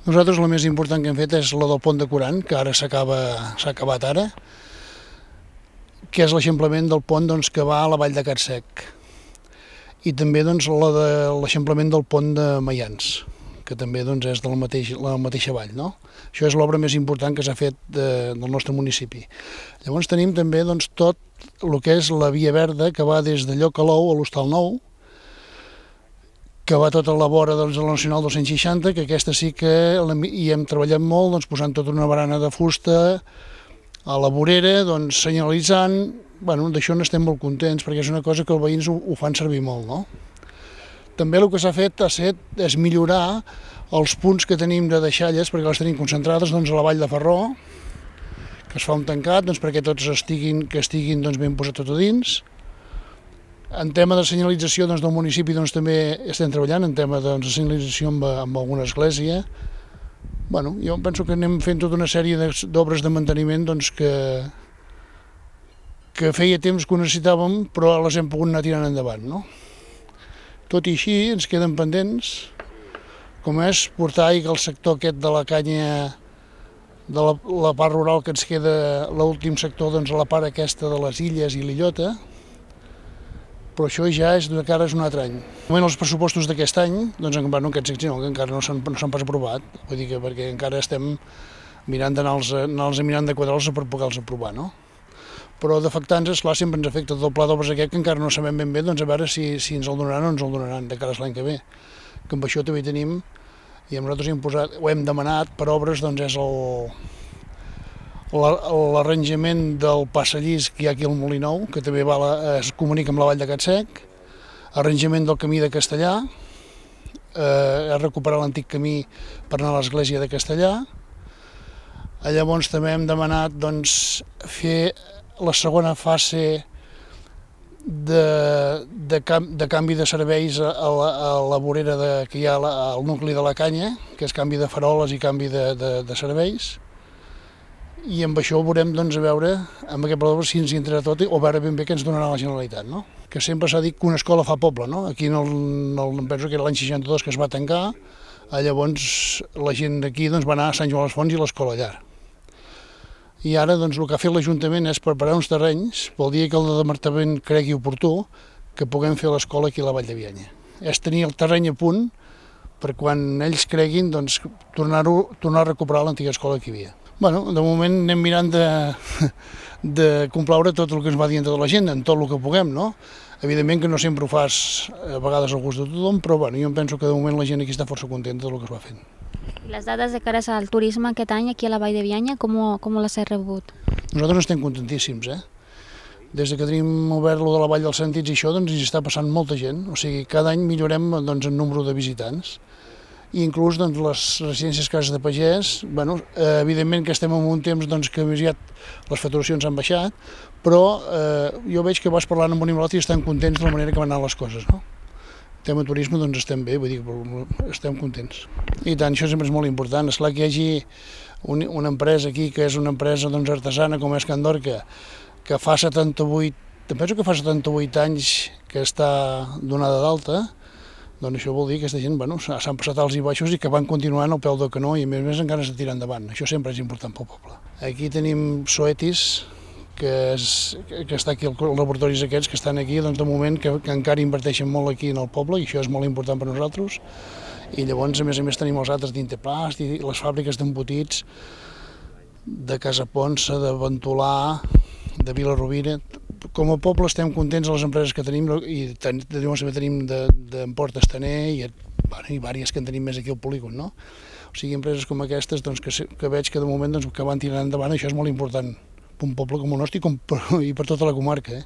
Nosaltres la més important que hem fet és la del pont de Corant, que ara s'ha acabat ara, que és l'eixamplament del pont que va a la vall de Catsec. I també la de l'eixamplament del pont de Maians, que també és de la mateixa vall. No? Això és l'obra més important que s'ha fet del nostre municipi. Llavors tenim també tot el que és la via verda, que va des de Lloc-a-l'Ou a l'Hostal Nou, que va tota la vora de la Nacional 260, que aquesta sí que hi hem treballat molt, posant tota una barana de fusta a la vorera, senyalitzant. D'això n'estem molt contents, perquè és una cosa que els veïns ho fan servir molt. No? També el que s'ha fet és millorar els punts que tenim de deixalles, perquè les tenim concentrades a la vall de Ferró, que es fa un tancat perquè tots estiguin ben posat tot a dins. En tema de senyalització del municipi també estem treballant, en tema de senyalització amb alguna església. Jo penso que anem fent tota una sèrie d'obres de manteniment que feia temps que ho necessitàvem, però les hem pogut anar tirant endavant. No? Tot i així ens queden pendents, com és portar aigua al sector aquest de la canya, de la part rural que ens queda, l'últim sector, a la part aquesta de les illes i l'illota, però això ja és de cara a un altre any. Els pressupostos d'aquest any, que encara no s'han pas aprovat, vull dir que perquè encara estem mirant de quadrar-los per poder-los aprovar, no? Però d'afectar-nos, esclar, sempre ens afecta tot el pla d'obres aquest, que encara no sabem ben bé, a veure si ens el donaran o ens el donaran de cara a l'any que ve. Que amb això també tenim, i nosaltres ho hem demanat per obres, és l'arranjament del passadís que hi ha aquí al Molí Nou, que també es comunica amb la vall de Catsec, arranjament del camí de Castellà, recuperar l'antic camí per anar a l'església de Castellà. Llavors també hem demanat fer la segona fase de canvi de serveis a la vorera que hi ha al nucli de la Canya, que és canvi de faroles i canvi de serveis. I amb això veurem, a veure, amb aquest pla si ens hi entrarà tot o veure ben bé què ens donarà la Generalitat. No? Que sempre s'ha dit que una escola fa poble. No? Aquí penso que era l'any 62 que es va tancar, llavors la gent d'aquí va anar a Sant Joan les Fonts i l'escola allà. I ara el que ha fet l'Ajuntament és preparar uns terrenys pel dia que el Departament cregui oportú que puguem fer l'escola aquí a la Vall de Bianya. És tenir el terreny a punt per quan ells creguin tornar a recuperar l'antiga escola que hi havia. De moment anem mirant de complaure tot el que ens va dient tota la gent, en tot el que puguem, no? Evidentment que no sempre ho fas a vegades al gust de tothom, però jo em penso que de moment la gent aquí està força contenta del que es va fent. I les dades de cara al turisme aquest any aquí a la Vall de Bianya, com les heu rebut? Nosaltres estem contentíssims, Des que tenim obert de la Vall dels Sentits i això, hi està passant molta gent, o sigui, cada any millorem el nombre de visitants. I inclús les residències cases de pagès, evidentment que estem en un temps que aviat les facturacions han baixat, però jo veig que vas parlant amb un i amb l'altre i estan contents de la manera que van anar les coses. No? En tema de turisme estem bé, vull dir que estem contents. I tant, això sempre és molt important. Esclar que hi hagi una empresa aquí que és una empresa artesana com és Can Dorca, que fa 78, penso que fa 78 anys que està donada d'alta, això vol dir que aquesta gent s'han passat alts i baixos i que van continuant al peu del canó i a més encara s'ha tirat endavant. Això sempre és important pel poble. Aquí tenim Soetis, que està aquí als laboratoris aquests que estan aquí, de moment que encara inverteixen molt aquí en el poble i això és molt important per nosaltres. I llavors, a més tenim els altres d'Inteplast i les fàbriques d'embotits de Casa Ponsa, de Ventolà, de Vila-rovira. Com a poble estem contents de les empreses que tenim i també tenim d'Emport Estaner i diverses que en tenim més aquí al polígon. No? O sigui, empreses com aquestes que veig que de moment que van tirant endavant, això és molt important per un poble com el nostre i per tota la comarca.